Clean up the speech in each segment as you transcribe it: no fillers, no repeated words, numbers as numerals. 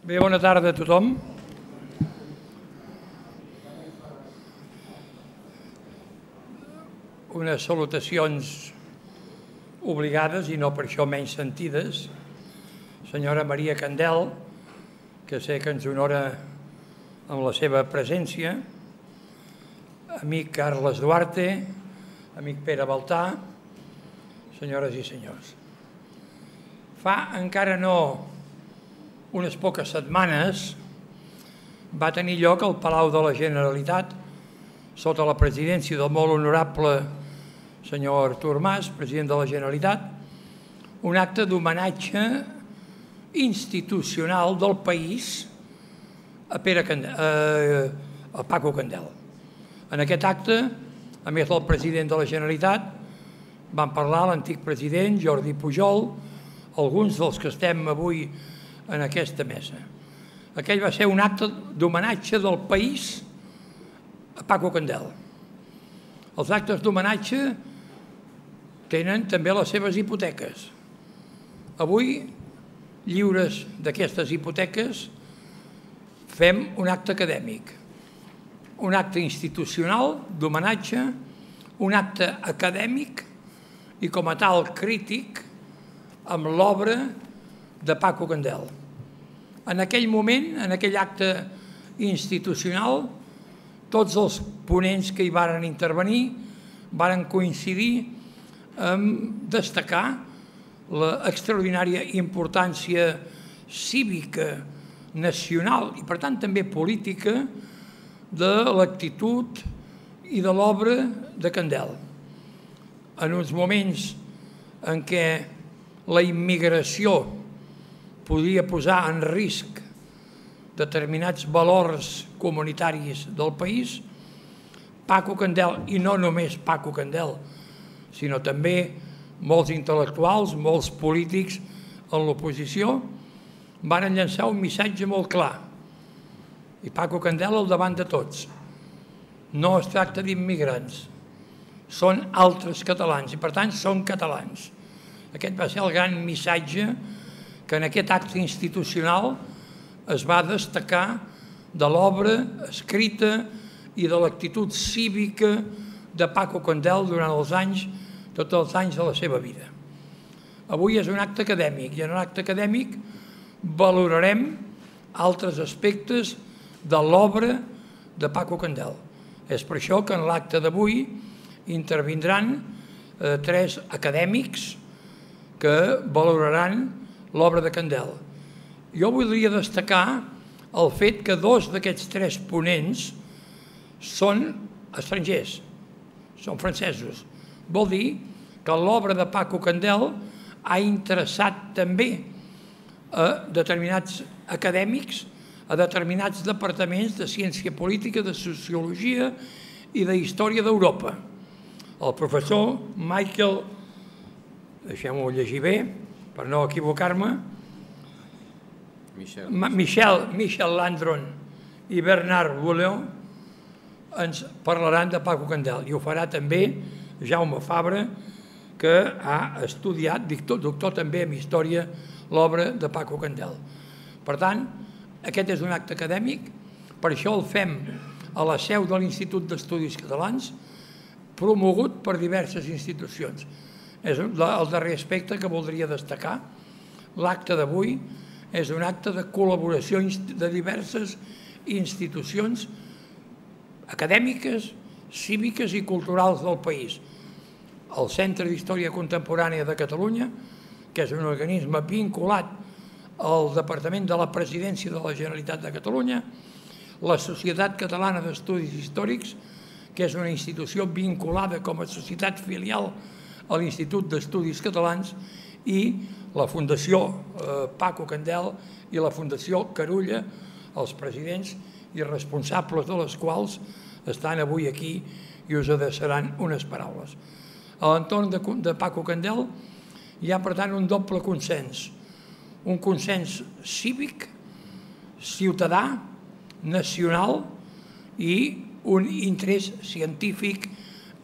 Bé, bona tarda a tothom. Unes salutacions obligades i no per això menys sentides. Senyora Maria Candel, que sé que ens honora amb la seva presència. Amic Carles Duarte, amic Pere Baltà, senyores i senyors. Fa encara no unes poques setmanes va tenir lloc al Palau de la Generalitat, sota la presidència del molt honorable senyor Artur Mas, president de la Generalitat, un acte d'homenatge institucional del país a Paco Candel. En aquest acte, a més del president de la Generalitat, van parlar l'antic president Jordi Pujol, alguns dels que estem avui en aquesta mesa. Aquell va ser un acte d'homenatge del país a Paco Candel. Els actes d'homenatge tenen també les seves hipoteques. Avui, lliures d'aquestes hipoteques, fem un acte acadèmic, un acte institucional d'homenatge, un acte acadèmic i com a tal crític amb l'obra de Paco Candel. En aquell moment, en aquell acte institucional, tots els ponents que hi varen intervenir varen coincidir en destacar l'extraordinària importància cívica, nacional i, per tant, també política de l'actitud i de l'obra de Candel. En uns moments en què la immigració podia posar en risc determinats valors comunitaris del país, Paco Candel, i no només Paco Candel, sinó també molts intel·lectuals, molts polítics en l'oposició, van llançar un missatge molt clar. I Paco Candel al davant de tots. No es tracta d'immigrants, són altres catalans i, per tant, són catalans. Aquest va ser el gran missatge que en aquest acte institucional es va destacar de l'obra escrita i de l'actitud cívica de Paco Candel durant els anys, tots els anys de la seva vida. Avui és un acte acadèmic i en un acte acadèmic valorarem altres aspectes de l'obra de Paco Candel. És per això que en l'acte d'avui intervindran tres acadèmics que valoraran l'obra de Candel. Jo voldria destacar el fet que dos d'aquests tres ponents són estrangers, són francesos. Vol dir que l'obra de Paco Candel ha interessat també a determinats acadèmics, a determinats departaments de ciència política, de sociologia i de història d'Europa. El professor Michael, deixem-ho llegir bé, per no equivocar-me, Michel Landron i Bernard Boulon ens parlaran de Paco Candel i ho farà també Jaume Fabra, que ha estudiat, doctor també en història, l'obra de Paco Candel. Per tant, aquest és un acte acadèmic, per això el fem a la seu de l'Institut d'Estudis Catalans, promogut per diverses institucions. És el darrer aspecte que voldria destacar. L'acte d'avui és un acte de col·laboració de diverses institucions acadèmiques, cíviques i culturals del país. El Centre d'Història Contemporània de Catalunya, que és un organisme vinculat al Departament de la Presidència de la Generalitat de Catalunya, la Societat Catalana d'Estudis Històrics, que és una institució vinculada com a societat filial a l'Institut d'Estudis Catalans, i la Fundació Paco Candel i la Fundació Carulla, els presidents i responsables de les quals estan avui aquí i us adreçaran unes paraules. A l'entorn de Paco Candel hi ha, per tant, un doble consens. Un consens cívic, ciutadà, nacional i un interès científic,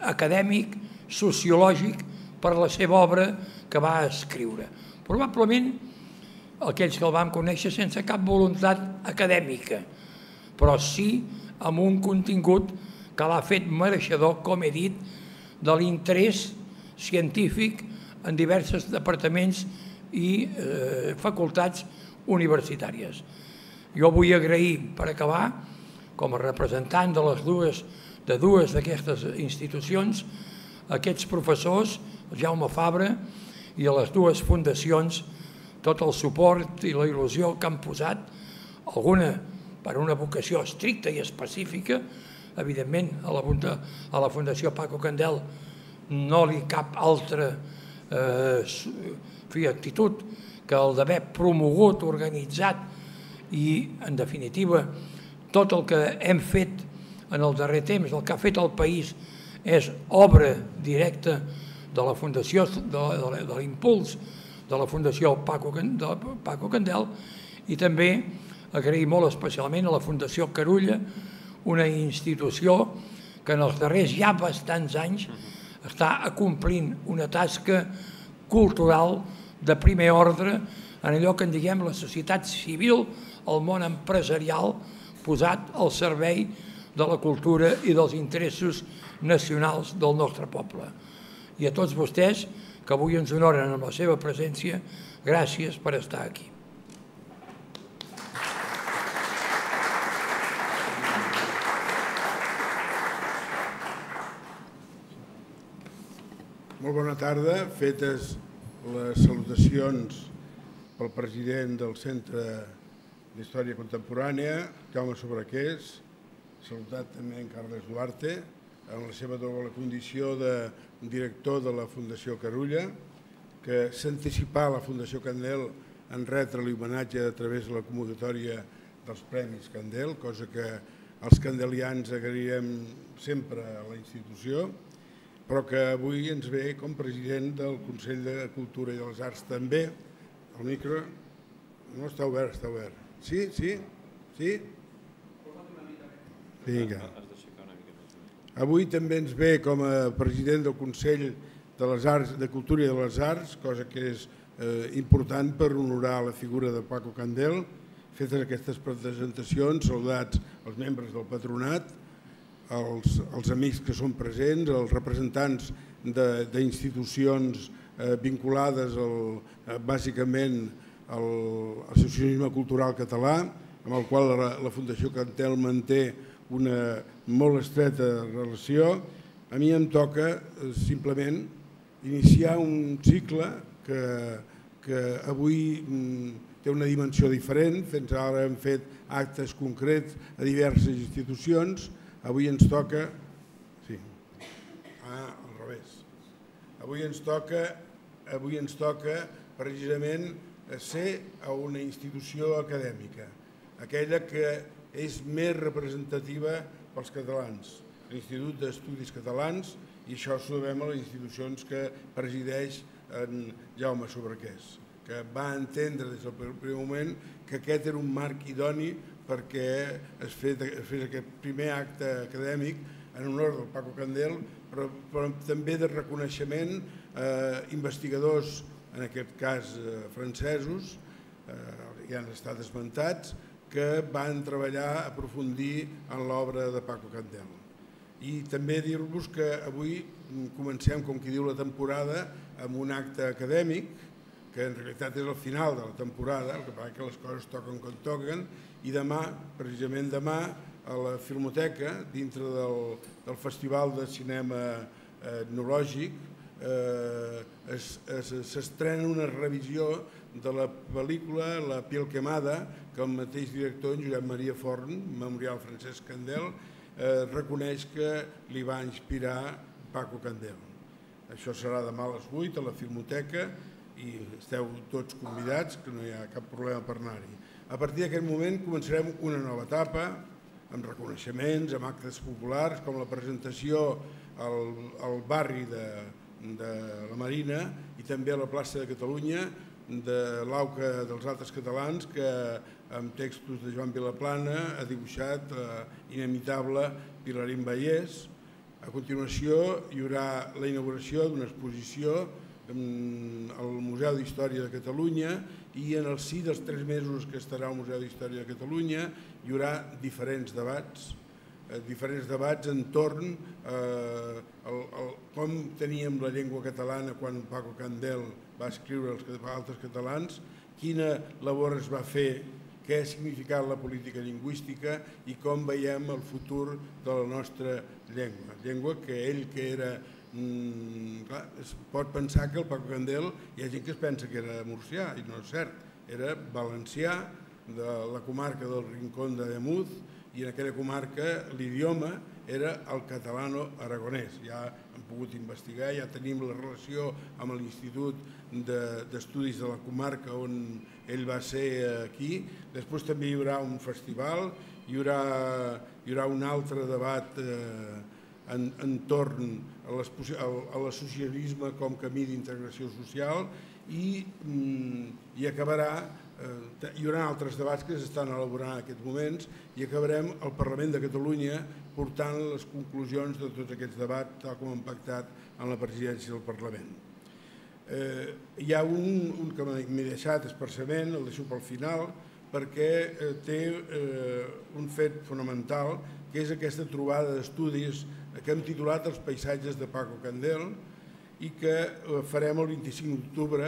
acadèmic, sociològic per la seva obra que va escriure. Probablement aquells que el vam conèixer sense cap voluntat acadèmica, però sí amb un contingut que l'ha fet mereixedor, com he dit, de l'interès científic en diversos departaments i facultats universitàries. Jo vull agrair, per acabar, com a representant de dues d'aquestes institucions, a aquests professors, el Jaume Fabra, i a les dues fundacions, tot el suport i la il·lusió que han posat, alguna per una vocació estricta i específica. Evidentment, a la Fundació Paco Candel no li cap altra actitud que el d'haver promogut, organitzat i, en definitiva, tot el que hem fet en el darrer temps, el que ha fet el país, és obra directa de la Fundació, de l'impuls de la Fundació Paco Candel, i també agrair molt especialment a la Fundació Carulla, una institució que en els darrers ja bastants anys està acomplint una tasca cultural de primer ordre en allò que en diguem la societat civil, el món empresarial, posat al servei de la cultura i dels interessos nacionals del nostre poble. I a tots vostès, que avui ens honoren amb la seva presència, gràcies per estar aquí. Molt bona tarda. Fetes les salutacions pel president del Centre d'Història Contemporània, Jaume Sobrequés, saludat també en Carles Duarte, en la seva doble condició de director de la Fundació Carulla, que s'anticipà a la Fundació Candel en retre-li homenatge a través de la convocatòria dels Premis Candel, cosa que els candelians agrairem sempre a la institució, però que avui ens ve com president del Consell de Cultura i de les Arts també. El micro no està obert, està obert. Sí? Sí? Sí? Vinga. Avui també ens ve com a president del Consell de les Arts, de Cultura i de les Arts, cosa que és important per honorar la figura de Paco Candel. Fetes aquestes presentacions, saludats els membres del patronat, els amics que són presents, els representants d'institucions vinculades bàsicament a l'associacionisme cultural català, amb el qual la Fundació Candel manté una molt estreta relació. A mi em toca simplement iniciar un cicle que avui té una dimensió diferent. Fins ara hem fet actes concrets a diverses institucions. Avui ens toca... Sí. Al revés. Avui ens toca precisament ser a una institució acadèmica, aquella que és més representativa pels catalans, l'Institut d'Estudis Catalans, i això ho sabem a les institucions que presideix en Jaume Sobrequés, que va entendre des del primer moment que aquest era un marc idoni perquè es fes aquest primer acte acadèmic en honor del Paco Candel, però també de reconeixement a investigadors, en aquest cas francesos, ja han estat esmentats, que van treballar a aprofundir en l'obra de Paco Candel. I també dir-vos que avui comencem, com qui diu, la temporada amb un acte acadèmic, que en realitat és el final de la temporada, el que passa que les coses toquen com toquen, i demà, precisament demà, a la Filmoteca, dintre del Festival de Cinema Etnològic, s'estrena una revisió de la pel·lícula La piel quemada, que el mateix director, en Josep Maria Forn, Memorial Francesc Candel, reconeix que li va inspirar Paco Candel. Això serà demà a les 8 a la Filmoteca i esteu tots convidats, que no hi ha cap problema per anar-hi. A partir d'aquest moment començarem una nova etapa, amb reconeixements, amb actes populars, com la presentació al barri de la Marina i també a la plaça de Catalunya de l'Auca dels Altres Catalans, que amb textos de Joan Vilaplana ha dibuixat inimitable Pilarín Vallès. A continuació hi haurà la inauguració d'una exposició al Museu d'Història de Catalunya, i en el si dels 3 mesos que estarà al Museu d'Història de Catalunya hi haurà diferents debats entorn a com teníem la llengua catalana quan Paco Candel va escriure els altres catalans, quina labor es va fer, què ha significat la política lingüística i com veiem el futur de la nostra llengua. Llengua que ell, que era... Clar, es pot pensar que el Paco Candel, hi ha gent que es pensa que era murcià, i no és cert, era valencià, de la comarca del Rincón de Ademuz, i en aquella comarca l'idioma era el catalano-aragonès. Ja hem pogut investigar, ja tenim la relació amb l'Institut d'Estudis de la Comarca on ell va ser aquí. Després també hi haurà un festival, hi haurà un altre debat entorn a l'associacionisme com camí d'integració social i acabarà, hi haurà altres debats que s'estan elaborant en aquests moments i acabarem al Parlament de Catalunya portant les conclusions de tots aquests debats tal com han pactat en la presidència del Parlament. Hi ha un que m'he deixat expressament, el deixo pel final, perquè té un fet fonamental, que és aquesta trobada d'estudis que hem titulat Els paisatges de Paco Candel i que farem el 25 d'octubre.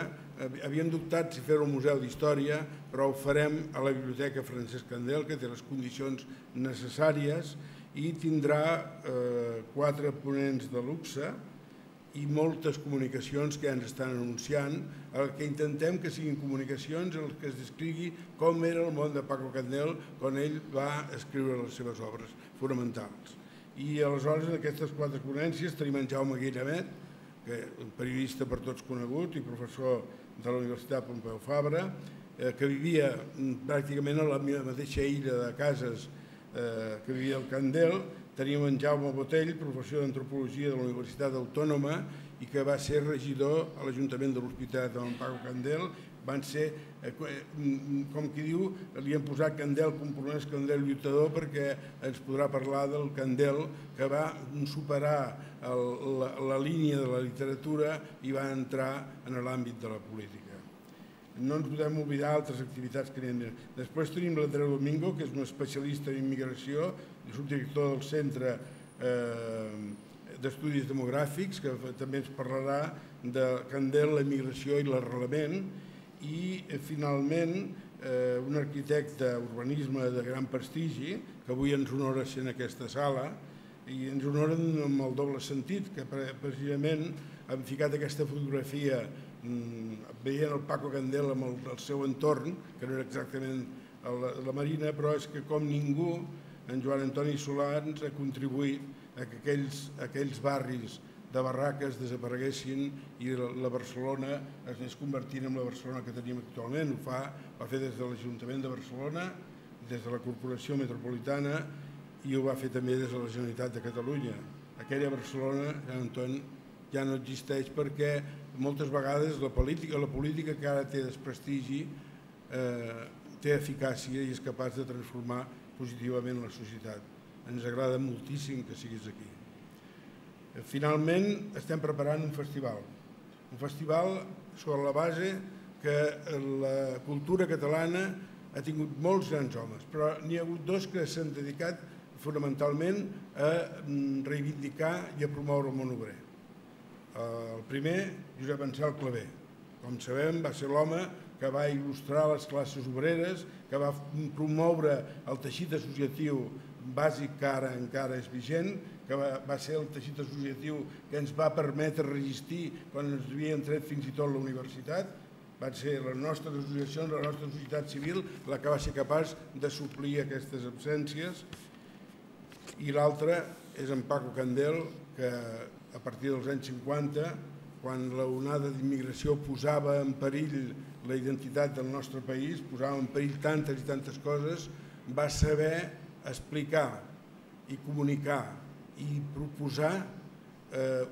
Havíem dubtat si fer-ho al Museu d'Història, però ho farem a la Biblioteca Francesc Candel, que té les condicions necessàries i tindrà 4 ponents de luxe i moltes comunicacions que ja ens estan anunciant. El que intentem que siguin comunicacions en què es descrigui com era el món de Paco Candel quan ell va escriure les seves obres fonamentals. I aleshores en aquestes 4 ponències tenim en Jaume Guillamet, que és un periodista per tots conegut i professor de la Universitat Pompeu Fabra, que vivia pràcticament a la mateixa illa de cases que vivia el Candel. Teníem en Jaume Botell, professor d'Antropologia de la Universitat Autònoma i que va ser regidor a l'Ajuntament de l'Hospitalet amb en Paco Candel. Van ser, com qui diu, li han posat Candel compromès, Candel lluitador, perquè ens podrà parlar del Candel que va superar la línia de la literatura i va entrar en l'àmbit de la política. No ens podem oblidar altres activitats que n'hi ha. Després tenim l'Andreu Domingo, que és un especialista en immigració, és un director del Centre d'Estudis Demogràfics, que també ens parlarà de Candel, la immigració i l'arrelament. I finalment un arquitecte urbanisme de gran prestigi, que avui ens honora ser en aquesta sala, i ens honoren amb el doble sentit, que precisament hem ficat aquesta fotografia veient el Paco Candel amb el seu entorn, que no era exactament la Marina, però és que com ningú en Joan Antoni Solà ens ha contribuït a que aquells barris de barraques desapareguessin i la Barcelona es anés convertint en la Barcelona que tenim actualment. Ho va fer des de l'Ajuntament de Barcelona, des de la Corporació Metropolitana i ho va fer també des de la Generalitat de Catalunya. Aquella Barcelona, Antoni, ja no existeix perquè moltes vegades la política que ara té desprestigi té eficàcia i és capaç de transformar positivament la societat. Ens agrada moltíssim que siguis aquí. Finalment estem preparant un festival sobre la base que la cultura catalana ha tingut molts grans homes, però n'hi ha hagut 2 que s'han dedicat fonamentalment a reivindicar i a promoure el món obrer. El primer, Josep Ansel Clavé. Com sabem, va ser l'home que va il·lustrar les classes obreres, que va promoure el teixit associatiu bàsic que ara encara és vigent, que va ser el teixit associatiu que ens va permetre resistir quan ens havien tret fins i tot la universitat. Van ser les nostres associacions, la nostra societat civil, la que va ser capaç de suplir aquestes absències. I l'altre és en Paco Candel, que a partir dels anys 50, quan l'onada d'immigració posava en perill la identitat del nostre país, posava en perill tantes i tantes coses, va saber explicar i comunicar i proposar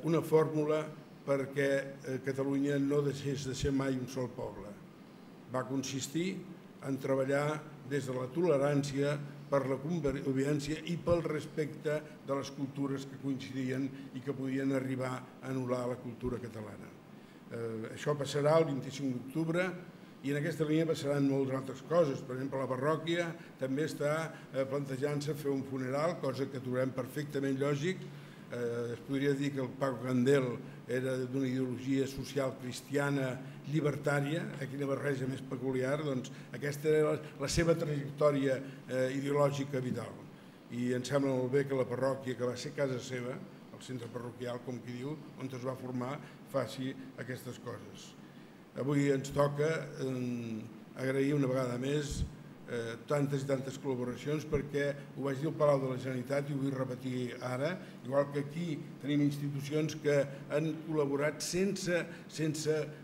una fórmula perquè Catalunya no deixés de ser mai un sol poble. Va consistir en treballar des de la tolerància, per la convivència i pel respecte de les cultures que coincidien i que podien arribar a anul·lar la cultura catalana. Això passarà el 25 d'octubre i en aquesta línia passaran moltes altres coses. Per exemple, la parròquia també està plantejant-se fer un funeral, cosa que trobem perfectament lògic. Es podria dir que el Paco Candel era d'una ideologia social cristiana llibertària, quina barreja més peculiar, doncs aquesta era la seva trajectòria ideològica vital. I em sembla molt bé que la parròquia, que va ser casa seva, el centre parroquial, com qui diu, on es va formar, faci aquestes coses. Avui ens toca agrair una vegada més tantes i tantes col·laboracions, perquè ho vaig dir al Palau de la Generalitat i ho vull repetir ara, igual que aquí tenim institucions que han col·laborat sense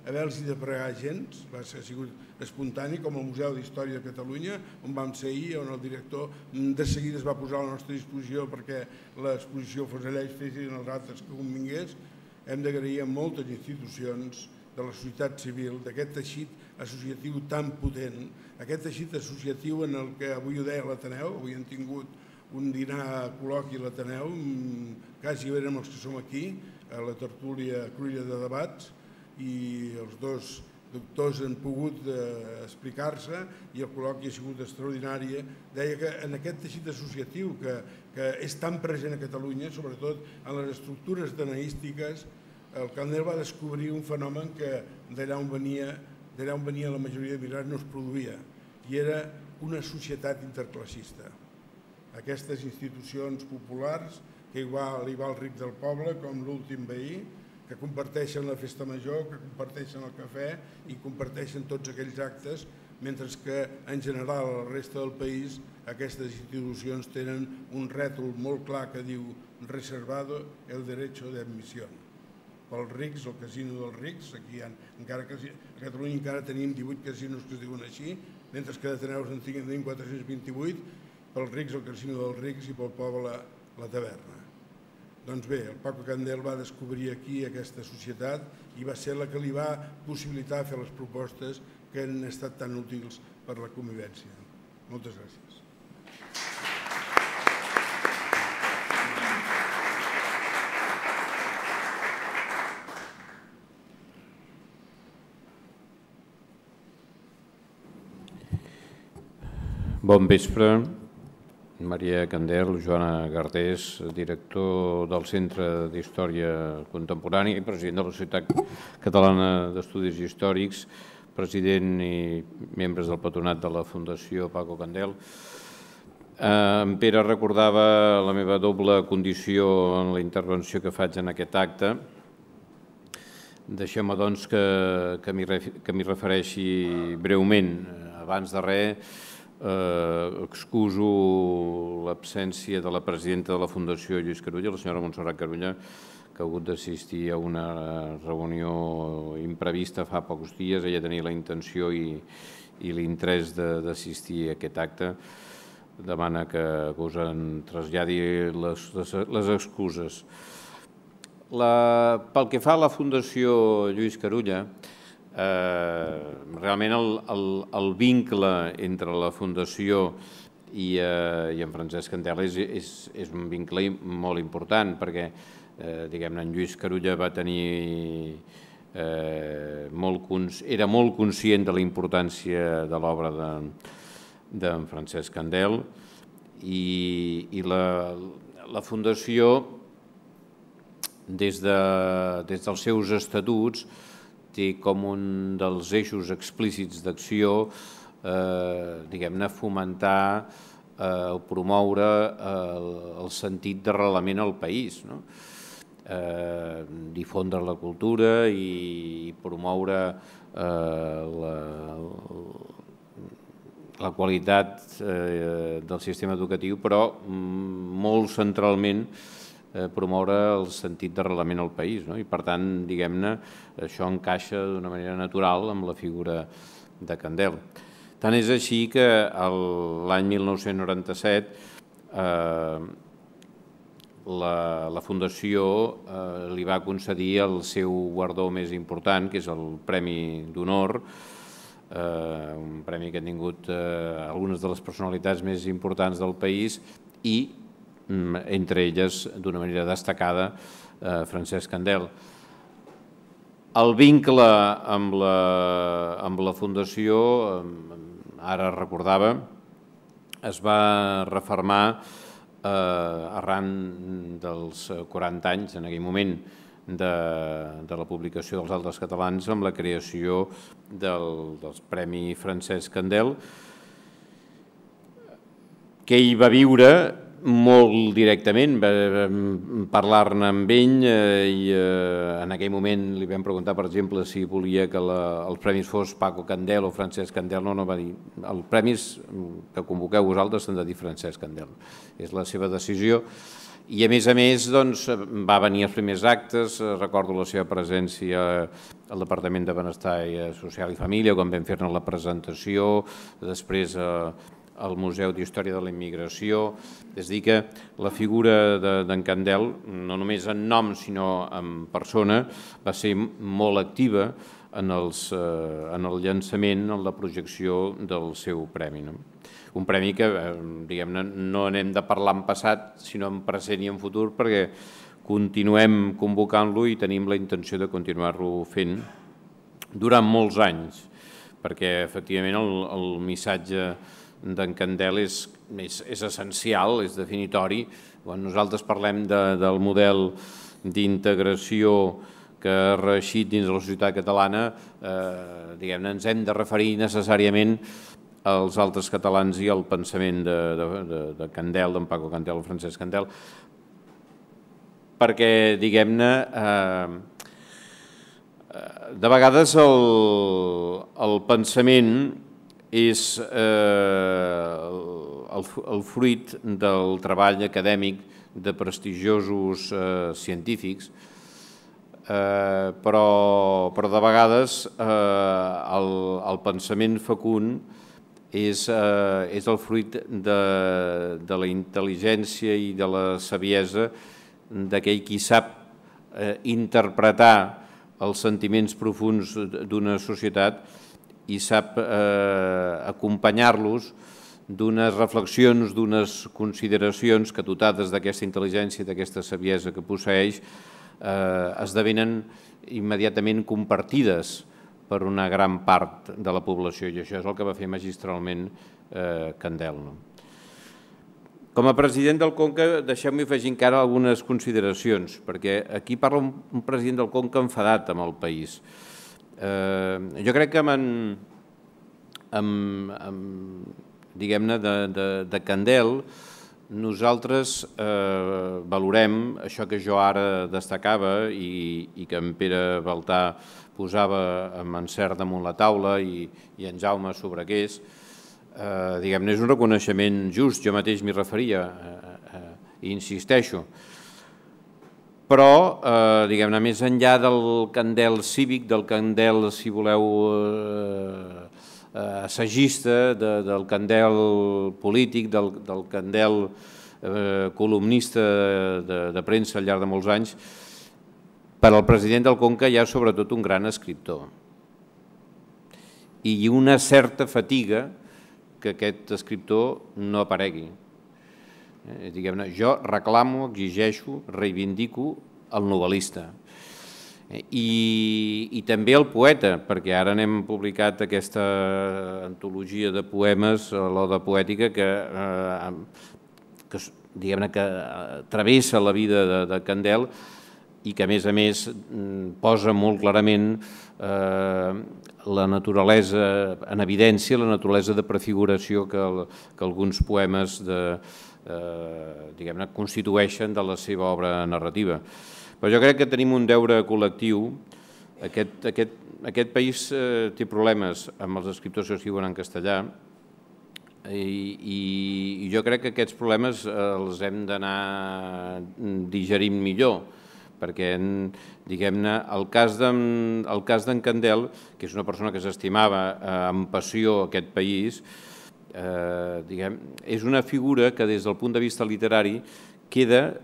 haver-los de pregar gens, ha sigut espontani, com el Museu d'Història de Catalunya, on vam ser ahir, on el director de seguida es va posar a la nostra disposició perquè l'exposició fos allà i fessin els altres que convingués. Hem d'agrair a moltes institucions de la societat civil, d'aquest teixit associatiu tan potent, aquest teixit associatiu en el que avui ho deia l'Ateneu, avui hem tingut un dinar col·loqui a l'Ateneu, quasi érem els que som aquí, a la tertúlia Cruïlla de Debats, i els dos doctors han pogut explicar-se i el col·loqui ha sigut extraordinari. Deia que en aquest teixit associatiu que és tan present a Catalunya, sobretot en les estructures danaístiques, el Candel va descobrir un fenomen que d'allà on venia la majoria de migrants no es produïa, i era una societat interclassista. Aquestes institucions populars que igual hi va el ric del poble, com l'últim veí, que comparteixen la festa major, que comparteixen el cafè i comparteixen tots aquells actes, mentre que en general a la resta del país aquestes institucions tenen un rètol molt clar que diu reservado el derecho de admisión. Pels rics, el casino dels rics, a Catalunya encara tenim 18 casinos que es diuen així, mentre que d'Ateneus en tenim 428, pels rics el casino dels rics i pel poble la taverna. Doncs bé, el Paco Candel va descobrir aquí aquesta societat i va ser la que li va possibilitar fer les propostes que han estat tan útils per la convivència. Moltes gràcies. Bon vespre. Maria Candel, Joana Gardés, director del Centre d'Història Contemporània i president de la Societat Catalana d'Estudis Històrics, president i membres del patronat de la Fundació Paco Candel. En Pere recordava la meva doble condició en la intervenció que faig en aquest acte. Deixeu-me, doncs, que m'hi refereixi breument. Abans de res, excuso l'absència de la presidenta de la Fundació Lluís Carulla, la senyora Montserrat Carulla, que ha hagut d'assistir a una reunió imprevista fa pocs dies. Ella tenia la intenció i l'interès d'assistir a aquest acte. Demana que us en traslladi les excuses. Pel que fa a la Fundació Lluís Carulla, realment el vincle entre la Fundació i en Francesc Candel és un vincle molt important, perquè en Lluís Carulla era molt conscient de la importància de l'obra d'en Francesc Candel, i la Fundació, des dels seus estatuts, té com un dels eixos explícits d'acció fomentar o promoure el sentit d'arrelament al país, difondre la cultura i promoure la qualitat del sistema educatiu, però molt centralment promoure el sentit d'arrelament al país. I, per tant, diguem-ne, això encaixa d'una manera natural amb la figura de Candel. Tant és així que l'any 1997 la Fundació li va concedir el seu guardó més important, que és el Premi d'Honor, un premi que han tingut algunes de les personalitats més importants del país i, entre elles, d'una manera destacada, Francesc Candel. El vincle amb la Fundació, ara recordava, es va refermar arran dels 40 anys, en aquell moment, de la publicació dels Altres Catalans amb la creació del Premi Francesc Candel, que ell va viure molt directament, parlar-ne amb ell i en aquell moment li vam preguntar, per exemple, si volia que els premis fos Paco Candel o Francesc Candel. No, va dir, els premis que convoqueu vosaltres s'han de dir Francesc Candel. És la seva decisió. I a més, va venir els primers actes, recordo la seva presència al Departament de Benestar Social i Família, quan vam fer-ne la presentació, després al Museu d'Història de la Immigració. És a dir, que la figura d'en Candel, no només en nom sinó en persona, va ser molt activa en el llançament, en la projecció del seu premi. Un premi que, diguem-ne, no anem de parlar en passat, sinó en present i en futur, perquè continuem convocant-lo i tenim la intenció de continuar-lo fent durant molts anys, perquè, efectivament, el missatge d'en Candel és essencial, és definitori. Quan nosaltres parlem del model d'integració que ha reeixit dins de la societat catalana, diguem-ne, ens hem de referir necessàriament als altres catalans i al pensament de Candel, d'en Paco Candel o Francesc Candel, perquè, diguem-ne, de vegades el pensament és el fruit del treball acadèmic de prestigiosos científics, però de vegades el pensament fecund és el fruit de la intel·ligència i de la saviesa d'aquell qui sap interpretar els sentiments profunds d'una societat i sap acompanyar-los d'unes reflexions, d'unes consideracions que, dotades d'aquesta intel·ligència i d'aquesta saviesa que posseeix, esdevenen immediatament compartides per una gran part de la població, i això és el que va fer magistralment Candel. Com a president del Conca, deixeu-m'hi afegir encara algunes consideracions, perquè aquí parla un president del Conca enfadat amb el país. Jo crec que diguem-ne, de Candel, nosaltres valorem això que jo ara destacava i que en Pere Baltà posava amb encert damunt la taula i en Jaume Sobrequés. Diguem-ne, és un reconeixement just, jo mateix m'hi referia i insisteixo. Però, diguem-ne, més enllà del Candel cívic, del Candel, si voleu, assagista, del Candel polític, del Candel columnista de premsa al llarg de molts anys, per al president del Conca hi ha sobretot un gran escriptor i una certa fatiga que aquest escriptor no aparegui. Diguem-ne, jo reclamo, exigeixo, reivindico el novel·lista i també el poeta, perquè ara n'hem publicat aquesta antologia de poemes, l'Oda Poètica, que diguem-ne que travessa la vida de Candel i que, a més, posa molt clarament la naturalesa en evidència, la naturalesa de prefiguració que alguns poemes diguem-ne, constitueixen de la seva obra narrativa. Però jo crec que tenim un deure col·lectiu. Aquest país té problemes amb els escriptors que escriuen en castellà i jo crec que aquests problemes els hem d'anar digerint millor, perquè, diguem-ne, el cas d'en Candel, que és una persona que s'estimava amb passió aquest país, és una figura que des del punt de vista literari queda,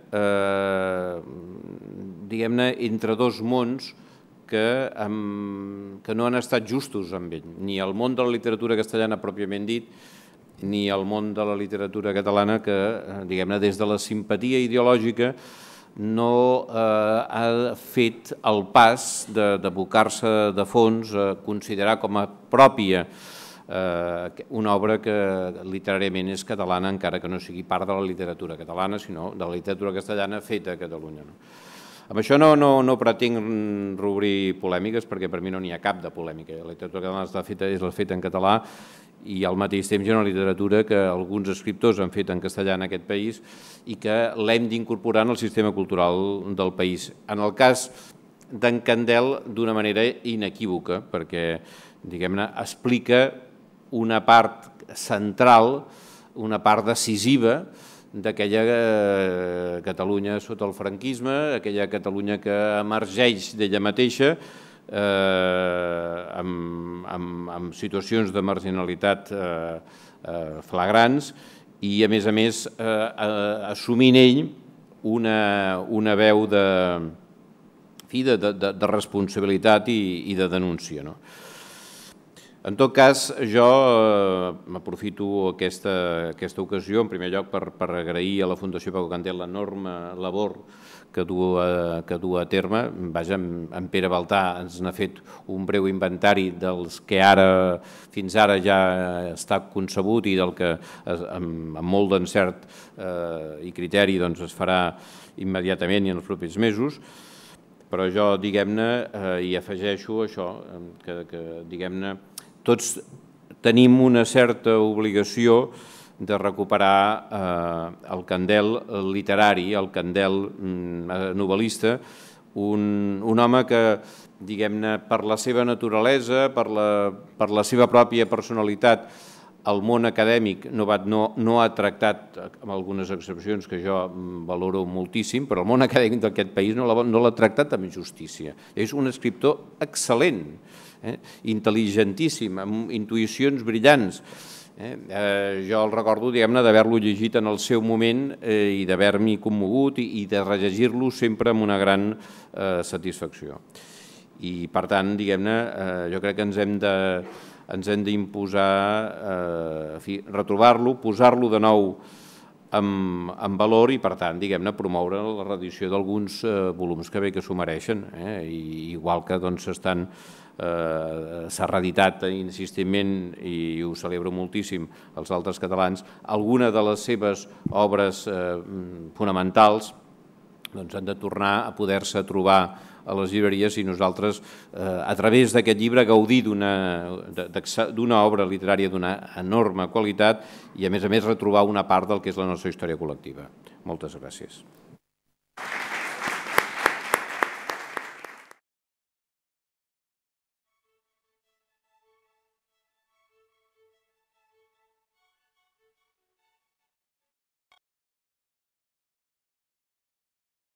diguem-ne, entre dos mons que no han estat justos amb ell, ni el món de la literatura castellana pròpiament dit, ni el món de la literatura catalana que, diguem-ne, des de la simpatia ideològica no ha fet el pas d'abocar-se de fons a considerar com a pròpia una obra que literàriament és catalana, encara que no sigui part de la literatura catalana, sinó de la literatura castellana feta a Catalunya. Amb això no pretenc reobrir polèmiques, perquè per mi no n'hi ha cap de polèmica. La literatura catalana és la feta en català i al mateix temps hi ha una literatura que alguns escriptors han fet en castellà en aquest país i que l'hem d'incorporar en el sistema cultural del país. En el cas d'en Candel, d'una manera inequívoca, perquè, diguem-ne, explica una part central, una part decisiva d'aquella Catalunya sota el franquisme, aquella Catalunya que emergeix d'ella mateixa amb situacions de marginalitat flagrants i, a més, assumint ell una veu de responsabilitat i de denúncia. En tot cas, jo m'aprofito aquesta ocasió, en primer lloc, per agrair a la Fundació Paco Candel l'enorme labor que du a terme. Vaja, en Pere Baltà ens n'ha fet un breu inventari dels que fins ara ja està concebut i del que amb molt d'encert i criteri es farà immediatament i en els propers mesos. Però jo, diguem-ne, hi afegeixo això, que diguem-ne, tots tenim una certa obligació de recuperar el Candel literari, el Candel novel·lista, un home que, diguem-ne, per la seva naturalesa, per la seva pròpia personalitat, el món acadèmic no ha tractat, amb algunes excepcions que jo valoro moltíssim, però el món acadèmic d'aquest país no l'ha tractat amb justícia. És un escriptor excel·lent, intel·ligentíssim, amb intuïcions brillants. Jo el recordo, diguem-ne, d'haver-lo llegit en el seu moment i d'haver-m'hi commogut i de rellegir-lo sempre amb una gran satisfacció. I, per tant, diguem-ne, jo crec que ens hem d'imposar, retrobar-lo, posar-lo de nou en valor i, per tant, diguem-ne, promoure la reedició d'alguns volums que bé que s'ho mereixen, igual que s'ha reeditat insistentment, i ho celebro moltíssim, els altres catalans, alguna de les seves obres fonamentals han de tornar a poder-se trobar a les llibreries i nosaltres, a través d'aquest llibre, gaudir d'una obra literària d'una enorme qualitat i, a més, retrobar una part del que és la nostra història col·lectiva. Moltes gràcies.